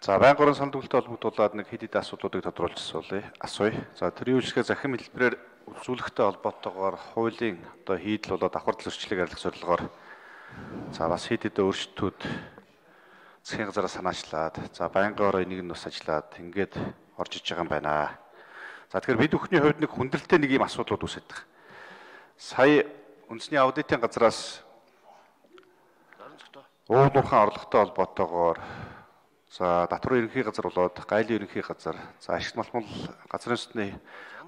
За байнгын орон санал төлөлтөд холбогдуулаад нэг хэд хэдэн асуудлуудыг тодруулж асууя. За төрийн үйлчлэгээ захин хэлбэрээр үзүүлэхтэй холбоотойгоор хуулийн одоо хийдэл болоод давхар зөрчлийг арилгах зорилгоор за бас хэд хэдэн өөрчлөлтүүд засгийн газараас санаачлаад за байнгын орон энийг нь бас ажиллаад ингээд орж иж байгаа юм байна. За тэгэхээр бид бүхний хувьд нэг хүндрэлтэй нэг юм асуудлууд үүсэж байгаа. Сая үндэсний аудитын газраас уулуурхан орлоготой холбоотойгоор за татварын ерөнхий газар болоод гайлын ерөнхий газар за ашигт малмал газрын сүтний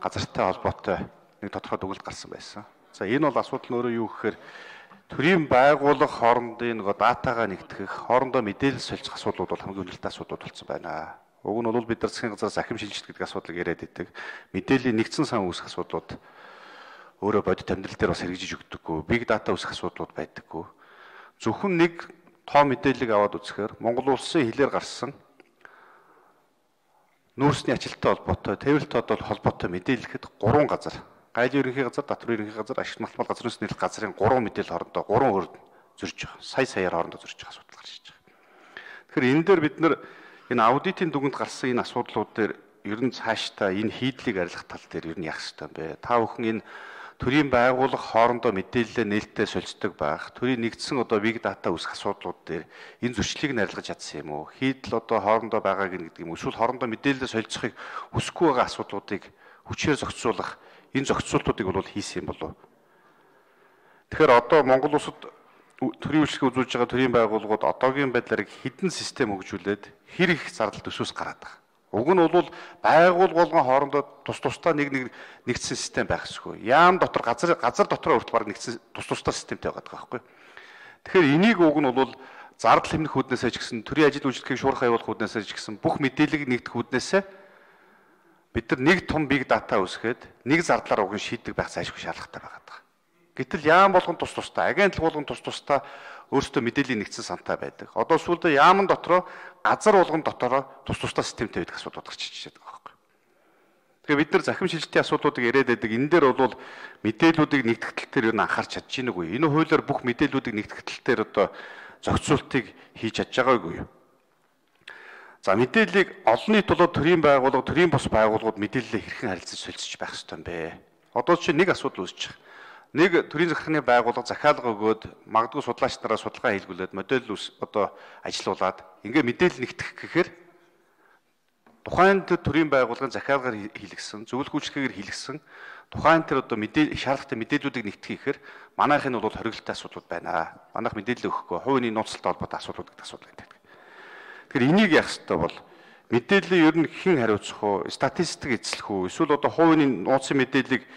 газартай холбоотой нэг тодорхой дүгнэлт гарсан байсан. За энэ бол асуудал нь өөрөө юу гэхээр төрийн байгууллага хоорондын нөгөө датагаа нэгтгэх, хоорондоо мэдээлэл солилцох асуудлууд бол хамгийн үнэлтэй асуудлууд болсон байна. Уг нь бол бид нар засгийн газраас захим шилжилт гэдэг асуудлыг яриад идэг. Мэдээллийн нэгдсэн сан үүсэх асуудлууд өөрөө бодит амьдрал дээр бас хэрэгжиж өгдөггүй. Big data үүсэх асуудлууд байдаггүй. Зөвхөн нэг тоо мэдээллийг аваад үзэхээр Монгол улсын хилээр гарсан нүүрсний ажилттай холбоотой, тэврэлт одоо холбоотой мэдээлэхэд 3 газар, гайлын ерөнхий газар, татварын ерөнхий газар, ашигт малмал газрын сүнс нийлэх газрын 3 мэдээлэл хоорондоо 3 өөр зөрж байгаа. Саяар хоорондоо зөрж байгаа асуудал гарч иж байгаа. Тэгэхээр энэ дээр бид нар энэ аудитын дүгэнд гарсан энэ асуудлууд дээр ер нь цаашдаа энэ хийдлийг арилгах тал дээр ер нь яах ёстой юм бэ? Та бүхэн энэ төрийн байгууллага хоорондоо мэдээлэлээ нээлттэй солилцдог байх, төрийн нэгдсэн одоо big data үүсэх асуудлууд дээр энэ зөрчлийг нь арилгаж чадсан юм уу? Хийдэл одоо хоорондоо байгааг нь гэдэг юм. Эсвэл хоорондоо мэдээлэлээ солилцохыг хүсэхгүй байгаа асуудлуудыг хүчээр зохицуулах энэ зохицуултуудыг бол хийсэн юм болов. Тэгэхээр одоо Монгол улсад төрийн үйлчлэгээ үзүүлж байгаа төрийн байгууллагууд одоогийн байдлаар хэдэн систем хөгжүүлээд хэр их зардал төсөөс гараад байгаа. Уг нь бол байгууллага болгон хоорондоо тусдаа нэгдсэн систем байх ёсгүй. Яам дотор газар дотор хүртэл баг нэгдсэн тусдаа системтэй байгаа байхгүй. Тэгэхээр энийг уг нь бол зардал хэмнэх үүднээсээ ч гэсэн төрийн ажил үйлчлэгийг шуурхай явуулах үүднээсээ ч гэсэн бүх мэдээллийг нэгдэх үүднээсээ бид нар нэг том big data үүсгээд нэг зардлаар уг нь шийддэг байх зайлшгүй шаардлагатай байгаа. Гэтэл яам болгон тусдаа, агентлаг болгон тусдаа өөрсдөө мэдээллийн нэгдсэн сантай байдаг. Одоо сүүлдээ яамн дотроо газар болгон дотроо тусдаа системтэй байдаг асуудал гарч ичээд байгаа байхгүй. Тэгэхээр бид нар захим шилжилтийн асуудлуудыг яриад байдаг. Энэ дээр бол мэдээллүүдийг нэгтгэх тал дээр юу н анхаарч чадж гин үгүй. Энэ хуулиар бүх мэдээллүүдийг нэгтгэх тал дээр одоо зохицуултыг хийж чадж байгаагүй юу? За мэдээллийг олон нийт болоод төрийн байгууллага, төрийн бус байгууллагууд мэдээллээ хэрхэн харилцаж солилцож байх ёстой юм бэ? Одоо чинь нэг асуудал үүсэж байна. Нэг төрийн захиргааны байгууллага захиалга өгөөд магадгүй судлаач нараа судалгаа хийлгүүлээд модель одоо ажилуулад ингээ мэдээлэл нэгтгэх гэхээр тухайн төрийн байгууллагын захиалгаар хийлгсэн, зөвлөх үйлчлэгээр хийлгсэн тухайн тэр одоо шаардлагатай мэдээллүүдийг нэгтгэх гэхээр манайх нь бол хориглолтой асуудлууд байна. Манайх мэдээлэл өгөхгүй, хувийн нууцтай холбоотой асуудлууд гэдэг асуудал байдаг. Тэгэхээр энийг яах ёстой бол мэдээлэл ер нь хэн хариуцах вэ? Статистик эзлэх үү? Эсвэл одоо хувийн нууцын мэдээллийг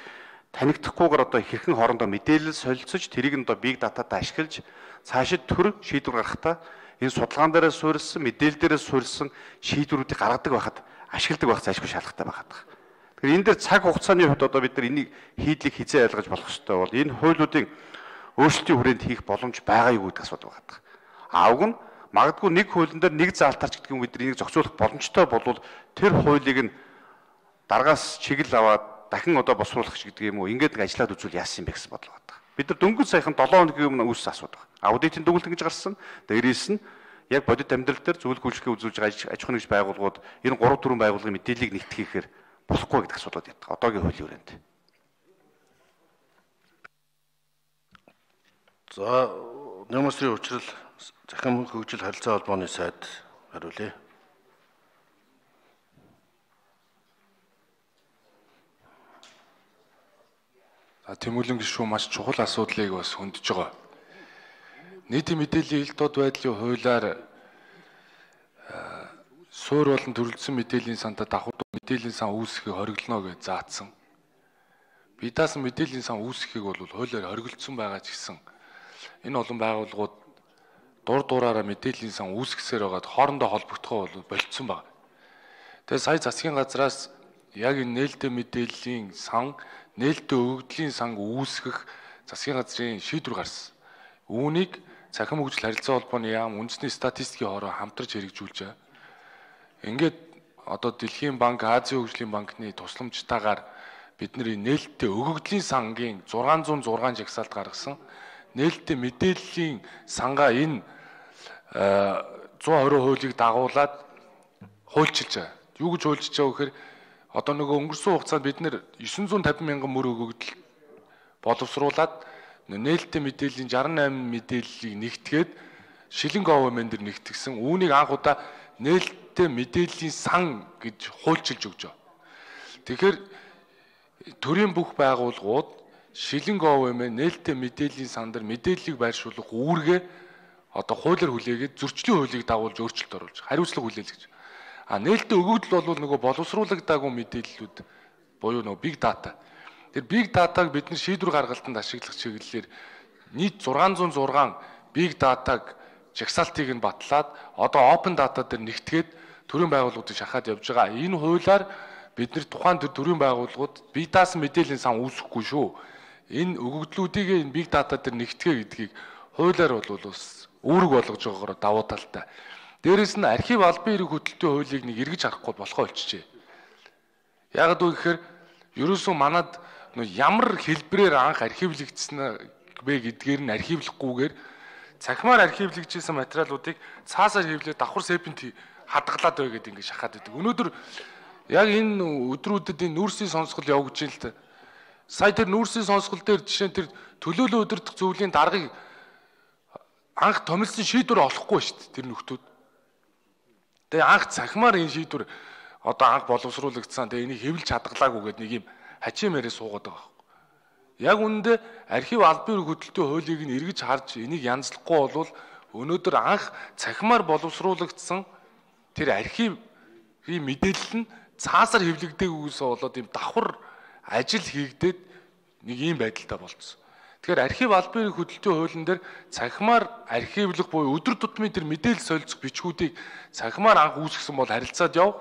танигдахгүйгээр одоо хэрхэн хоорондоо мэдээлэл солилцож тэрийг нь одоо big data-тай ашиглаж цаашид төр шийдвэр гаргахтаа энэ судалгаан дээрээ суурилсан, мэдээлэл дээрээ суурилсан шийдвэрүүдийг гаргадаг байхад ашигладаг байх зайлшгүй шаардлагатай байгаа. Тэгэхээр энэ дээр цаг хугацааны хувьд одоо бид нар энийг хийдлийг хизээ ойлгож болох ёстой бол энэ хуулиудын өөрчлөлтийн хүрээнд хийх боломж байгаа юу гэдэг асуудал байгаа. Уг нь магадгүй нэг хуулийн дээр нэг заалтарч гэдэг юм бид нар энийг зохицуулах боломжтой болвол тэр хуулийг нь дараагаас чиглэл аваад дахин одоо босруулах гэдэг юм уу ингээд нэг ажиллаад үзвэл яасан юм бэ гэсэн бодлого байна. Бид нар дөнгөж саяхан 7 хоногийн өмнө үүссэн асуудал. Аудитын дүгнэлт гэж гарсан. Дээрээс нь яг бодит амьдрал дээр зөвлөх үйлчлэгээ үзүүлж байгаа аж ахуйн нэгж байгууллагууд энэ 3-4 байгууллагын мэдээллийг нэгтгэхээр болохгүй гэдэг асуудал яддаг. Одоогийн хуулийн хүрээнд. За, Нэмэсрийн учрал захим хөгжил харилцаа холбооны сайд хариулъя. Тэмүүлэн гишүүн маш чухал асуудлыг бас хөндөж байгаа. Нийтийн мэдээллийн элдод байдлын хуулиар суур болон төрөлдсөн мэдээллийн сантаа давхар мэдээллийн сан үүсгэхийг хориглоно гэж заасан. Би даасан мэдээллийн сан үүсгэхийг бол хуулиар хориглосон байгаа ч гэсэн энэ олон байгууллагууд дураараа мэдээллийн сан үүсгэсээр байгаад хоорондоо холбогдохоо бол болцсон байна. Тэгээ сая засгийн газраас яг энэ нээлттэй мэдээллийн сан нээлттэй өгөгдлийн санг үүсгэх засгийн газрын шийдвэр гарсан. Үүнийг захим хөгжил харилцаа холбооны яам үндэсний статистикийн хороо хамтарч хэрэгжүүлж байгаа. Ингээд одоо Дэлхийн банк, Азийн хөгжлийн банкны тусламжтайгаар бидний нээлттэй өгөгдлийн сангийн 606 жагсаалт гаргасан. Нээлттэй мэдээллийн сангаа энэ 120 хуулийг дагуулад хуульчилж байгаа. Юу гэж хуульчилж байгаа гэхээр одоо нөгөө өнгөрсөн хугацаанд бид нэр 950 мянган мөр өгөгдөл боловсруулад нээлттэй мэдээллийн 68 мэдээллийг нэгтгээд шилэн говьмэн дээр нэгтгсэн. Үүнийг анх удаа нээлттэй мэдээллийн сан гэж хуульчилж өгч байгаа. Тэгэхээр төрийн бүх байгууллагууд шилэн говьмэн нээлттэй мэдээллийн сан дээр мэдээллийг байршуулах үүргээ одоо хуулиар хүлээгээд зөрчлийн хуулийг дагуулж өөрчлөлт оруулж хариуцлага хүлээл гэж. Нээлттэй өгөгдөл бол нөгөө боловсруулагдаагүй мэдээллүүд буюу нөгөө big data. Тэр big data-г бид нар шийдвэр гаргалтанд ашиглах чиглэлээр нийт 606 big data-г жагсаалтыг нь батлаад одоо open data дээр нэгтгээд төрийн байгууллагуудыг шахаад явж байгаа. Энэ хуулиар бид нар тухайн төрийн байгууллагууд бие даасан мэдээллийн сан үүсэхгүй шүү. Энэ өгөгдлүүдийг энэ big data дээр нэгтгэе гэдгийг хуулиар бол бас үүрэг болгож байгаагаар давуу талтай. Дээрээс нь архив албан эрэг хөтөлбөрийн хуулийг нэг эргэж харахгүй болохоо болчихжээ. Яг үг гэхээр ерөөсөө манад ямар хэлбэрээр анх архивлэгдсэн бэ гэдгээр нь архивлахгүйгээр цахимаар архивлэгжсэн материалуудыг цаасаар хэвлээд давхар сэпент хадгалаад бай гэдэг ингэ шахаад байдаг. Өнөөдөр яг энэ өдрүүдэд энэ нүүрсийн сонсгол явагдаж байна л та. Сая тэр нүүрсийн сонсгол дээр жишээ нь тэр төлөөлөл удирдах зөвлөлийн даргыг анх томилсон шийдвэр олохгүй шүү дээ тэр нөхдүүд. Тэгээ анх цахимаар энэ шийдвэр одоо анх боловсруулагдсан. Тэгээ энийг хэвлж хадгалаагүй гэдэг нэг юм хачим яриа суугаад байгаа байхгүй. Яг үүндээ архив албан эрэг хөтөлбөрийн хуулийг нь эргэж харж энийг янзлахгүй болвол өнөөдөр анх цахимаар боловсруулагдсан тэр архивын мэдээлэл нь цаасаар хэвлэгдээгүйгээс болоод ийм давхар ажил хийгдээд нэг ийм байдалтай болцсон. Тэгэхээр архив албан эрэг хөтөлбөрийн хуулийн дээр цахимаар архивлах буюу өдөр тутмын тэр мэдээлэл солилцох бичгүүдийг цахимаар анх үүсгэсэн бол харилцаад яв.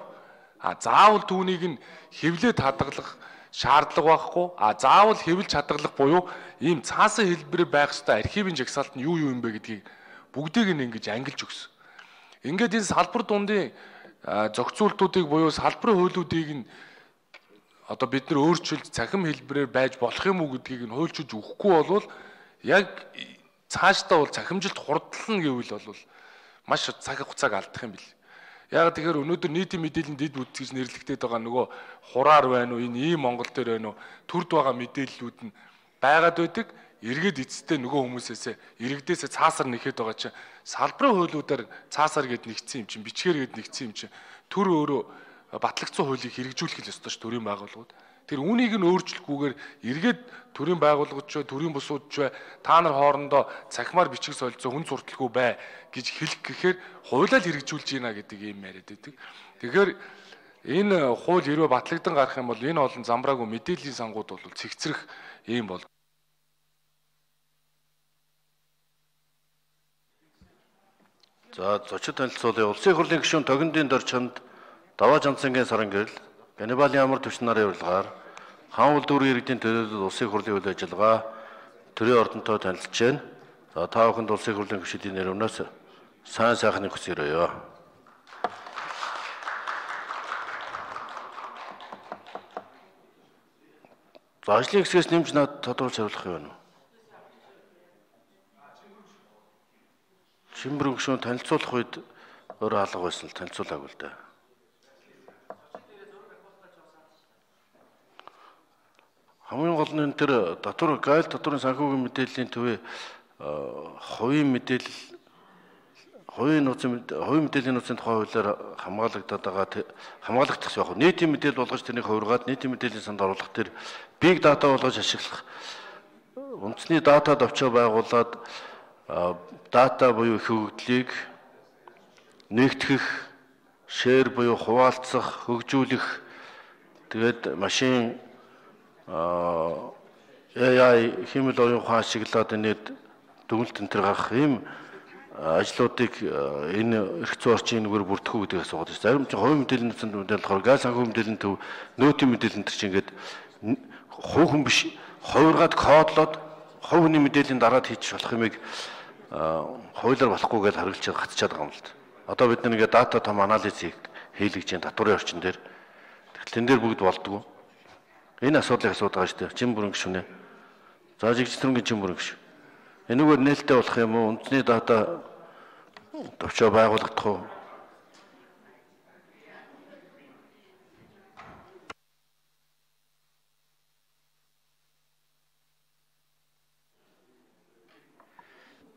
Заавал түүнийг нь хэвлээд хадгалах шаардлага байхгүй. Заавал хэвлж хадгалах буюу ийм цаасан хэлбэрээр байх ёстой архивын жагсаалт нь юу юм бэ гэдгийг бүгдийг нь ингэж ангилж өгсөн. Ингээд энэ салбар дундын зохицуултуудыг буюу салбарын хуулиудыг нь одоо бид нар өөрчилж цахим хэлбэрээр байж болох юм уу гэдгийг нь хуульчилж өгөхгүй болвол яг цаашдаа бол цахимжилт хурдлна гэвэл бол маш цаг хугацааг алдах юм бэл. Яг тэгэхээр өнөөдөр нийтийн мэдээллийн дэд үт гэж нэрлэгдээд байгаа нөгөө хураар байна уу, энэ ийм Монгол дээр байна уу, төрд байгаа мэдээллүүд нь байгаад байдаг. Эргээд эцэстээ нөгөө хүмүүсээс иргэдээсээ цаасар нэхэд байгаа чинь салбарын хуулиудаар цаасар гэд нэгдсэн юм чинь, бичгээр гэд нэгдсэн юм чинь төр өөрөө батлагдсан хуулийг хэрэгжүүлэх л ёстой ш төрийн байгууллагууд. Тэр үүнийг нь өөрчлөхгүйгээр эргээд төрийн байгууллагууд ч төрийн бусууд ч та нар хоорондоо цахимаар бичиг солилцоо хүн сурталгүй бай гэж хэлэх гэхээр хуулиар хэрэгжүүлж ийна гэдэг юм яриад байдаг. Тэгэхээр энэ хууль хэрвээ батлагдсан гарах юм бол энэ олон замбраагүй мэдээллийн сангууд бол цэгцрэх юм бол. За зочид танилцуулъя. Улсын их хурлын гишүүн Тогиндын Дорчонд Даваа Жанцангийн саран гэрэл Ганнибалийн амар түвшин нарын урилгаар хаан улдуурын иргэдийн төлөөлөлд улсын их хурлын үйл ажиллагаа төрийн ордонтой танилцж байна. За та бүхэнд улсын их хурлын гишүүдийн нэрнээс сайн сайхныг хүсье. За ажлын хэсгээс нэмж над тодруулж хариулах юм байна уу? Шимбэр гишүүн танилцуулах үед өөрөө алга байсан л танилцуулаагүй л дээ. Хамгийн гол нь тэр татвар гайл татварын санхүүгийн мэдээллийн төвийн хувийн мэдээллийн нууцын тухай хуулиар хамгаалагдаад байгаа хамгаалагдах яг нийтийн мэдээлэл болгож тэрнийг хувиргаад нийтийн мэдээллийн санд оруулах тэр big data болгож ашиглах үндэсний дата давчаа байгуулад дата буюу их хөгжлийг нэгтгэх, шеэр буюу хуваалцах, хөгжүүлэх тэгээд машин AI хэмэл оюун ухаан ашиглаад энэд дүгнэлт энэ төр гарах ийм ажлуудыг энэ эрх зүйн орчин нүгээр бүрдэх үү гэдэг асуугаад байна. Зарим чинь хувийн мэдээллийн нууцнд мэдээлэл болохоор газ санхүү мэдээллийн төв нөөтийн мэдээлэл энэ чинь ингээд хувь хүн биш хувиргаад кодлоод хувь хүний мэдээллийн дараад хийчих болох юмыг хуулиар болохгүй гэж хариулчаад гацчаад байгаа юм л да. Одоо бид нэг дата том анализ хийлгэж чинь татварын орчин дээр тэгэхээр тэн дээр бүгд болдгоо. Энэ асуудлыг асуудаг шүү дээ. Чин бүрэн гişүнэ. За жигч төрөнгийн чин бүрэн гişү. Энэгээр нээлттэй болох юм уу? Үндэсний дата төвчөө байгуулагдах уу?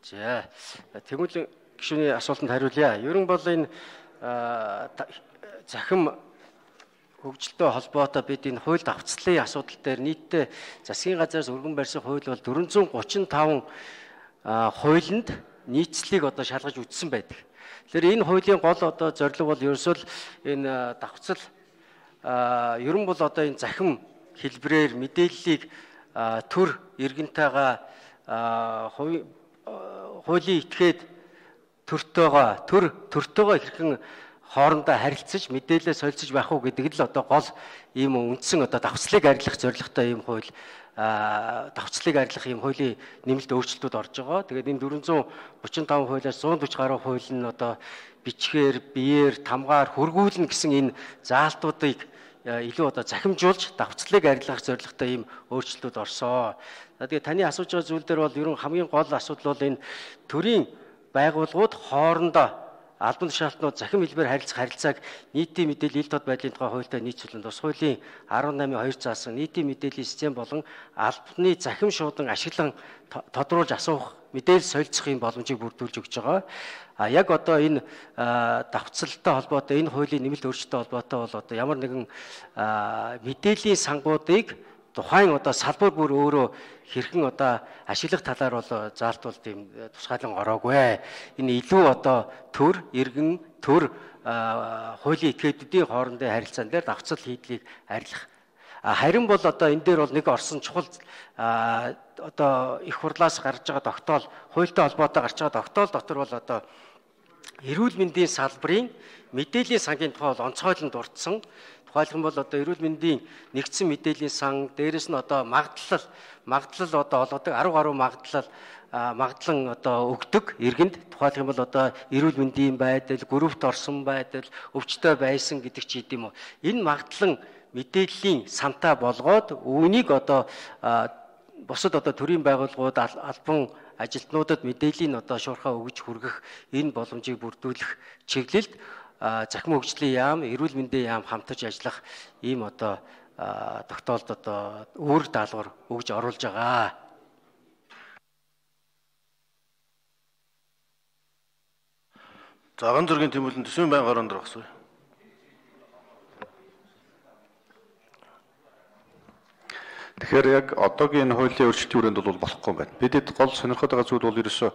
За тэгвэл гишүүний асуултанд хариулъя. Ер нь бол энэ захим хөгжилтэй холбоотой бид энэ хууль давтцлын асуудал дээр нийтдээ засгийн газраас өргөн барьсан хууль бол 435 хуулинд нийцлийг одоо шалгаж үтсэн байдаг. Тэгэхээр энэ хуулийн гол одоо зорилго бол ерөөсөө л энэ давтцал ер нь бол одоо энэ захим хэлбэрээр мэдээллийг төр иргэнтэйгээ хуулийн этгээд төртөөгөө хэрхэн хоорондоо харилцаж мэдээлэл солилцож байх уу гэдэг л одоо гол ийм үндсэн одоо давтцлыг арилгах зорилготой ийм хууль давтцлыг арилгах ийм хуулийн нэмэлт өөрчлөлтүүд орж байгаа. Тэгээд энэ 435 хуулиас 140 гаруй хууль нь одоо бичгээр, биеэр, тамгаар хөргүүлнэ гэсэн энэ заалтуудыг илүү одоо захимжуулж давтцлыг арилгах зорилготой ийм өөрчлөлтүүд орсон. Тэгээд таны асууж байгаа зүйл дээр бол ер нь хамгийн гол асуудал бол энэ төрийн байгууллагууд хоорондоо албан тушаалтнууд захим хэлбээр харилцааг нийтийн мэдээлэл ил тод байдлын тухай хуультай нийцүүлэн тус хуулийн 18-2 заасан нийтийн мэдээллийн систем болон албаны захим шуудан ашиглан тодруулж асуух мэдээлэл солилцох юм боломжийг бүрдүүлж өгч байгаа. Яг одоо энэ давтцалтай холбоотой энэ хуулийн нэмэлт өөрчлөлттэй холбоотой бол одоо ямар нэгэн мэдээллийн сангуудыг тухайн одоо салбар бүр өөрөө хэрхэн одоо ашиглах талаар бол заалт бол тийм тусгаалan ороогүй. Энэ илүү одоо төр, иргэн, төр хуулийн этгээдүүдийн хоорондын харилцаан дээр давтцал хийдлийг арилгах. Харин бол одоо энэ дээр бол нэг орсон чухал одоо их хурлаас гарч байгаа тогтоол, хуультай холбоотой гарч байгаа тогтоол дотор бол одоо эрүүл мэндийн салбарын мэдээллийн сангийн тухай бол онцгойлон дурдсан. Тухайлх нь бол одоо эрүүл мэндийн нэгдсэн мэдээллийн сан, дээрэс нь одоо магадлал одоо олгодог 10 гаруй магадлан одоо өгдөг иргэнд. Тухайлх нь бол одоо эрүүл мэндийн байдал, группт орсон байдал, өвчтөй байсан гэдэг ч гэдэм үү. Энэ магадлан мэдээллийн сантаа болгоод үүнийг одоо бусад одоо төрийн байгууллагууд албан ажилтнуудад мэдээллийн одоо шуурхаа өгж хүргэх энэ боломжийг бүрдүүлэх чиглэлд захим хөгжлийн яам, эрүүл мэндийн яам хамтарч ажиллах ийм одоо тогтоолд одоо үүрэг даалгавар өгж оруулж байгаа. Заган зургийн тэмүүлэн төсвийн байнгын орон дээр багсуу. Тэгэхээр яг одоогийн энэ хуулийн өөрчлөлтийн хүрээнд бол болохгүй байна. Бидэд гол сонирхоод байгаа зүйл бол ерөөсөө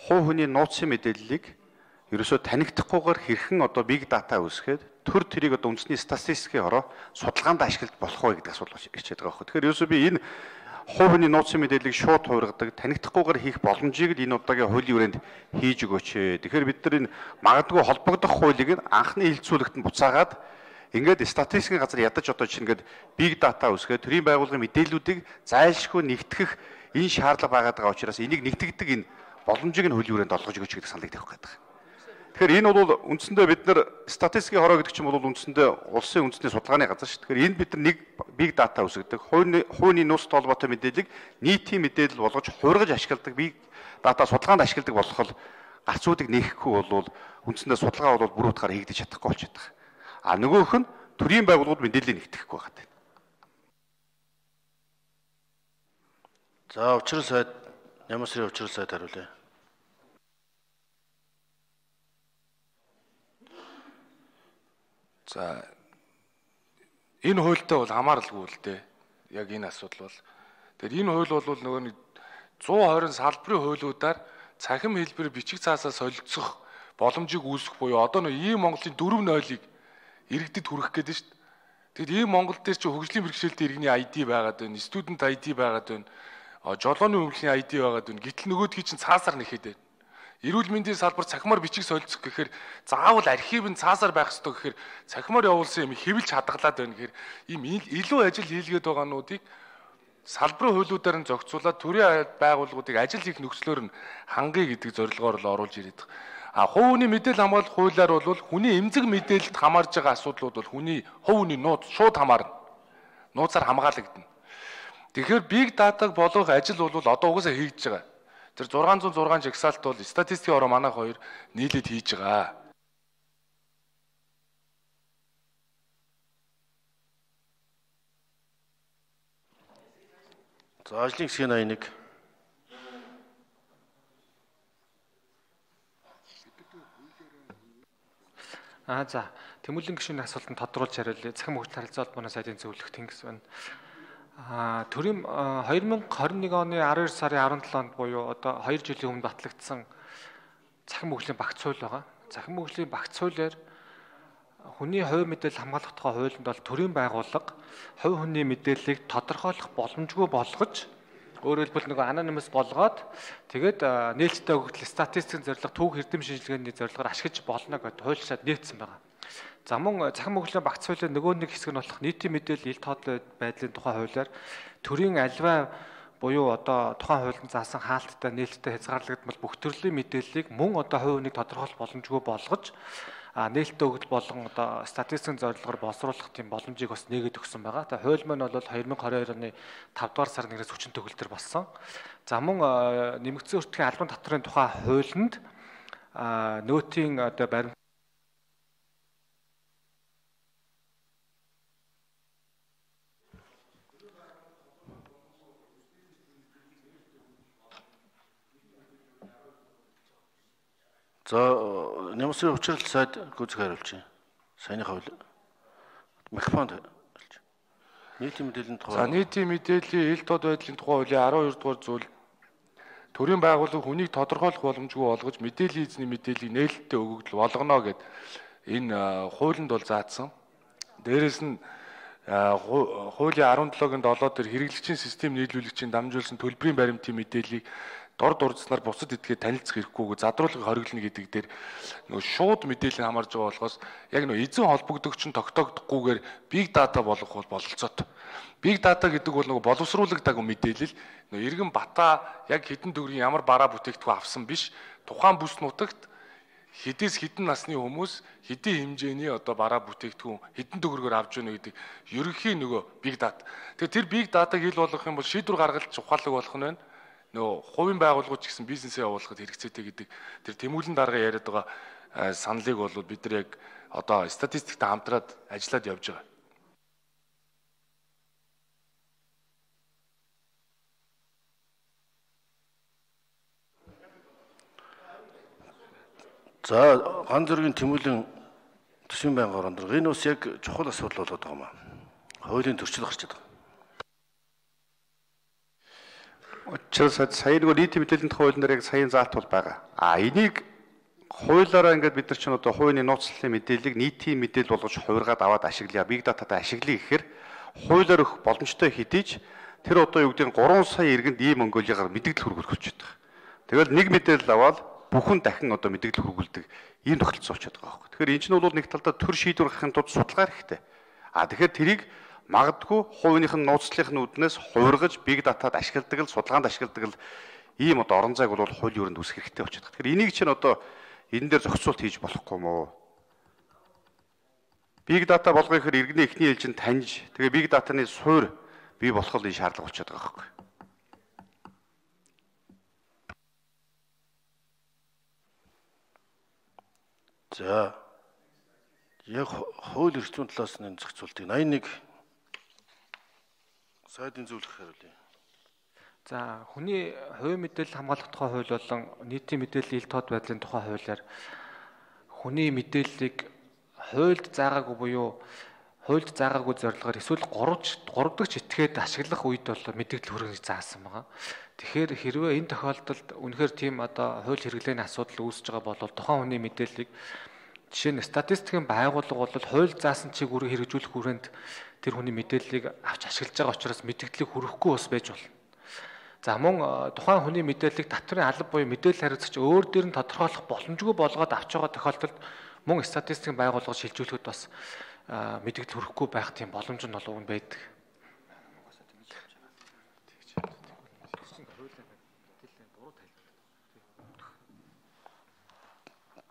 хувь хүний нууцын мэдээллийг ерөөсөө танигдахгүйгээр хэрхэн одоо big data үүсгээд төр тэрийг одоо үндэсний статистикийн ороо судалгаанд ашиглаж болох вэ гэдэг асуудал ирчээд байгаа байхгүй. Тэгэхээр ерөөсөө би энэ хувь хүний нууцын мэдээллийг шууд хуургадаг, танигдахгүйгээр хийх боломжийг л энэ удаагийн хуулийн хүрээнд хийж өгөөч. Тэгэхээр бид нар энэ магадгүй холбогдох хуулийг анхны хилцүүлэгт нь буцаагаад ингээд статистикийн газар ядаж одоо чинь ингээд big data үүсгээд төрийн байгууллагын мэдээллүүдийг зайлшгүй нэгтгэх энэ шаардлага байгаад байгаа учраас энийг нэгтгэдэг энэ боломжийг нь хуулийн хүрээнд олгож өгөөч гэдэг саналыг тавих гэдэг. Тэгэхээр энэ бол үндсэндээ бид нар статистикийн хороо гэдэг чинь бол үндсэндээ улсын үндэсний судалгааны газар шүү. Тэгэхээр энэ бид нар нэг big data үүсгдэг. Хувийн нууцтай холбоотой мэдээллийг нийтийн мэдээлэл болгож хуургаж ашигладаг big data судалгаанд ашигладаг болох л гарцуудыг нээхгүй бол үндсэндээ судалгаа бол бүр утгаар хийгдэж чадахгүй болчиход байгаа. А нөгөөх нь төрийн байгууллагууд мэдээллийг нэгтгэхгүй байгаа гэдэг. За учрал сайд ямар сарын учрал сайд хариулъя. За энэ хуультай бол хамааралгүй л дээ. Яг энэ асуудал бол. Тэгэхээр энэ хууль бол нөгөө нэг 120 салбарын хуулиудаар цахим хэлбэр бичиг цаасаа солилцох боломжийг үүсгэх буюу одоо нөгөө ийм Монголын 4.0-ыг иргэдэд хүргэх гэдэг нь шүү дээ. Тэгэд ийм Монгол дээр чи хөгжлийн бэрхшээлтэй иргэний ID байгаад байна, студент ID байгаад байна, жолооны өмгөлийн ID байгаад байна. Гэтэл нөгөөдгий чинь цаасаар нэхэд байна. Эрүүл мэндийн салбар цахимаар бичиг солилцох гэхээр заавал архив нь цаасаар байх ёстой гэхээр цахимаар явуулсан юм хэвлж хадгалаад байна гэхээр ийм илүү ажил хийлгээд байгаануудыг салбарын хуулиудаар нь зохицуулаад төрийн байгууллагуудыг ажил хийх нөхцлөөр нь хангая гэдэг зорилгоор л оруулж ирээд байгаа. А хувь хүний мэдээлэл хамгаалах хуулиар бол хүний эмзэг мэдээлэлд хамаарж байгаа асуудлууд бол хүний хувь хүний нууц шууд хамаарна. Нууцаар хамгаалагдана. Тэгэхээр big data-г болгох ажил бол одоо угаасаа хийгдэж байгаа. Тэр 606 жагсаалт бол статистикийн ороо манайх хоёр нийлээд хийж байгаа. За ажлын хэсгийн 81. За Тэмүүлэн гишүүний асуултанд тодруулж хариулъя. Захин хөгжил харилцаа холбооны сайдын зөвлөх Тэнгис байна. Төрийн 2021 оны 12 сарын 17-нд буюу одоо 2 жилийн өмнө батлагдсан захин хөгжлийн багц хууль байгаа. Захин хөгжлийн багц хуулиар хүний хувь мэдээлэл хамгаалах тухай хуулинд бол төрийн байгууллага хувь хүний мэдээллийг тодорхойлох боломжгүй болгож өөрөөр хэлбэл нөгөө анонимус болгоод тэгээд нээлттэй хөгжил статистикийн зорилго түүх эрдэм шинжилгээний зорилгоор ашиглаж болно гэдээ хуульчаад нээсэн байгаа. За мөн захин хөгжлийн багц хуулийн нөгөө нэг хэсэг нь болох нийтийн мэдээлэл ил тоотлоо байдлын тухай хуулиар төрийн аливаа буюу одоо тухайн хуулинд заасан хаалттай нээлттэй хязгаарлагдмал бүх төрлийн мэдээллийг мөн одоо хувь хүнийг тодорхойлох боломжгүй болгож нээлттэй хөгжил болон одоо статистикийн зорилгоор боловсруулах тийм боломжийг бас нээгээд өгсөн байгаа. Тэгээ хууль маань бол 2022 оны 5 дугаар сарын 1-ээс хүчин төгөлдөр болсон. За мөн нэмэгдсэн өртгийн албан татврын тухай хуулинд нөөтийн одоо баримт За нэмсэн учрал сайд гүзэх хариулж байна. Саяны хавь микрофонд хэлж. Нийтийн мэдээллийн тухай. За нийтийн мэдээллийн ил тод байдлын тухай хуулийн 12 дугаар зүйл төрийн байгууллага хүнийг тодорхойлох боломжгүй болгож мэдээллийн эзний мэдээллийг нээлттэй өгөгдөл болгоно гэд энэ хуулинд бол заасан. Дээрээс нь хуулийн 17-гийн 7 дээр хэрэглэгчийн систем нийлүүлэгчийн дамжуулсан төлбөрийн баримтын мэдээллийг дор дурдсанаар бусад эдгээд танилцах хэрэггүйг задруулгыг хориглоно гэдэг дээр нөгөө шууд мэдээлэл хамаарж байгаа болохоос яг нөгөө эзэн холбогдогч нь тогтоогдохгүйгээр big data болгох бол бололцоод. Big data гэдэг бол нөгөө боловсруулагдаагүй мэдээлэл нөгөө эргэн бата яг хэдэн төгрөгийн ямар бараа бүтээгдэхүүн авсан биш тухайн бүс нутагт хэдээс хэдэн насны хүмүүс хэдийн хэмжээний одоо бараа бүтээгдэхүүн хэдэн төгрөгөөр авч яана гэдэг ерөнхий нөгөө big data. Тэгэхээр тэр big data-г хил болгох юм бол шийдвэр гаргалж ухаалаг болох нь байна. Нөө хувийн байгууллагууд ч гэсэн бизнесээ явуулахад хэрэгцээтэй гэдэг тэр тэмүүлэн дарга яриад байгаа саналыг бол бид нар яг одоо статистиктэй хамтраад ажиллаад явж байгаа. За ган зэргийн тэмүүлэн төсвийн байнгын орон энэ бас яг чухал асуудал болоод байгаа юм аа. Хуулийн төрчил гарч байгаа. Учирс сая нөгөө нийтийн мэдээллийн тухай хуулинд яг саяын заалт бол байгаа. Энийг хуулиараа ингээд бид нар ч одоо хувийн нууцлалын мэдээллийг нийтийн мэдээлэл болгож хувиргаад аваад ашиглая, big data-тай ашиглая гэхээр хуулиар өгөх боломжтой хэдийч тэр одоо юу гэдэг нь 3 сая иргэнд ийм Монголигаар мэдээлэл хүргүүлж байгаа. Тэгэл нэг мэдээлэл аваад бүхэн дахин одоо мэдээлэл хүргүүлдэг ийм тохиолдол болчиход байгаа байхгүй. Тэгэхээр энэ чинь бол нэг талдаа төр шийдвэр гаргахын тулд судалгаа хэрэгтэй. Тэгэхээр тэрийг магадгүй хувийнх нь нууцлалын үүднээс хувиргаж big data-д ашигладаг л судалгаанд ашигладаг л ийм одоо орон зайг бол хууль юунд үүсгэх хэрэгтэй болчиход байна. Тэгэхээр энийг чинь одоо энэ дээр зохицуулт хийж болохгүй мó. Big data болгоё гэхээр иргэний эхний ээлжинд таньж тэгээ big data-ны суур бий болох л энэ шаардлага болчиход байгаа байхгүй. За яг хууль эрхтэн талаас нь зохицуултыг 81 сайдын зөвлөх хариулъя. За хүний хувийн мэдээлэл хамгаалах тухай хууль болон нийтийн мэдээллийн ил тод байдлын тухай хуулиар хүний мэдээллийг хуульд заагаагүй буюу хуульд заагаагүй зорилгоор эсвэл 3 дахь этгээд ашиглах үед бол мэдээлэл хүргэхийг заасан байгаа. Тэгэхээр хэрвээ энэ тохиолдолд үнэхээр тийм одоо хууль хэрэглээний асуудал үүсэж байгаа бол тухайн хүний мэдээллийг жишээ нь статистикийн байгууллага бол хууль заасан чиг үрийг хэрэгжүүлэх хүрээнд тэр хүний мэдээллийг авч ашиглаж байгаа учраас мэдээллийг хүргэхгүй бас байж болно. За мөн тухайн хүний мэдээллийг татврын алба буюу мэдээлэл хариуцагч өөр дээр нь тодорхойлох боломжгүй болгоод авч байгаа тохиолдолд мөн статистикийн байгууллага шилжүүлэхэд бас мэдээлэл хүргэхгүй байх тийм боломж нь бол өгн байдаг.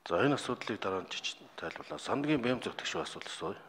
За энэ асуудлыг дараа нь тайлбарлаа. Сандгийн бэм зөвтгч асуудал асууя.